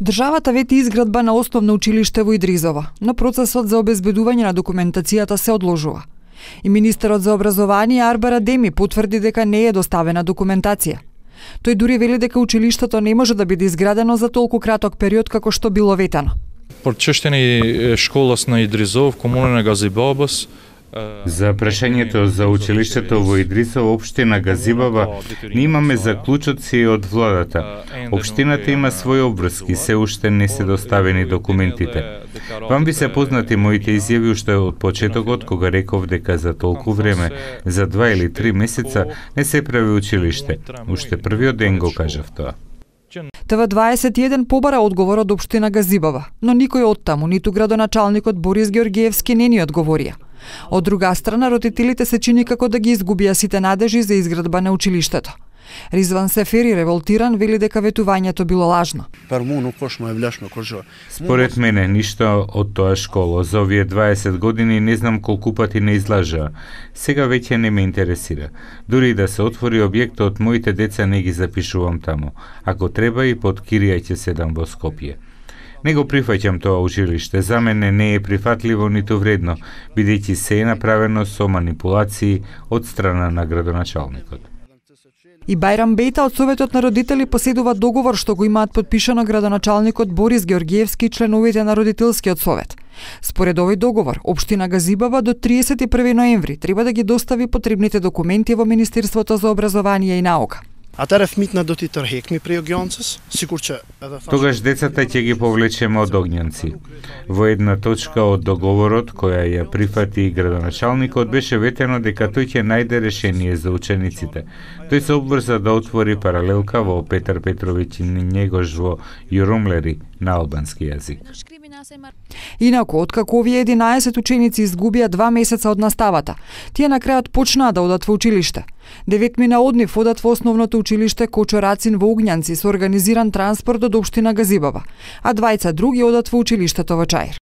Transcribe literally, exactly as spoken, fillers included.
Државата вети изградба на основно училиште во Идризово, но процесот за обезбедување на документацијата се одложува. И министерот за образование Арбар Адеми потврди дека не е доставена документација. Тој дури вели дека училиштето не може да биде изградено за толку краток период како што било ветено. Прочиштени школас на Идризов, комуна на Газибабас. За прашањето за училиштето во Идризово, општина Газибаба, ние имаме заклучоци од владата. Општината има своји обврски, се уште не се доставени документите. Вам би се познати моите изјави уште од почетокот, кога реков дека за толку време, за два или три месеца, не се прави училиште. Уште првиот ден го кажав тоа. Т В дваесет и еден побара одговор од општина Газибаба, но никој од таму, ниту градоначалникот Борис Георгиевски не ни одговорија. Од друга страна, родителите се чини како да ги изгубија сите надежи за изградба на училиштето. Ризван Сефери, револтиран, вели дека ветувањето било лажно. Според мене, ништо од тоа школо за овие дваесет години не знам колку пати не излажаа. Сега веќе не ме интересира. Дури да се отвори објектот, моите деца не ги запишувам таму. Ако треба и под кирија ќе седам во Скопје. Не го прифаќам тоа училиште, за мене не е прифатливо ниту вредно, бидејќи се е направено со манипулации од страна на градоначалникот. И Бајрам Бејта од Советот на родители поседува договор што го имаат подпишано градоначалникот Борис Георгиевски и членовите на родителскиот совет. Според овој договор, општина Газибаба до триесет и први ноември треба да ги достави потребните документи во Министерството за образование и наука. Тогаш децата ќе ги повлечеме од огњанци. Во една точка од договорот, која ја прифати градоначалникот, беше ветено дека тој ќе најде решение за учениците. Тој се обврза да отвори паралелка во Петар Петровиќ Његош во Јурумлери на албански јазик. Инаку, откако овие единаесет ученици изгубија два месеца од наставата, тие на крајот почнаа да одат во училиште. Деветмина од нив одат во основното училиште Кочо Рацин во Огњанци со организиран транспорт од општина Газибаба, а двајца други одат во училиштето во Чаир.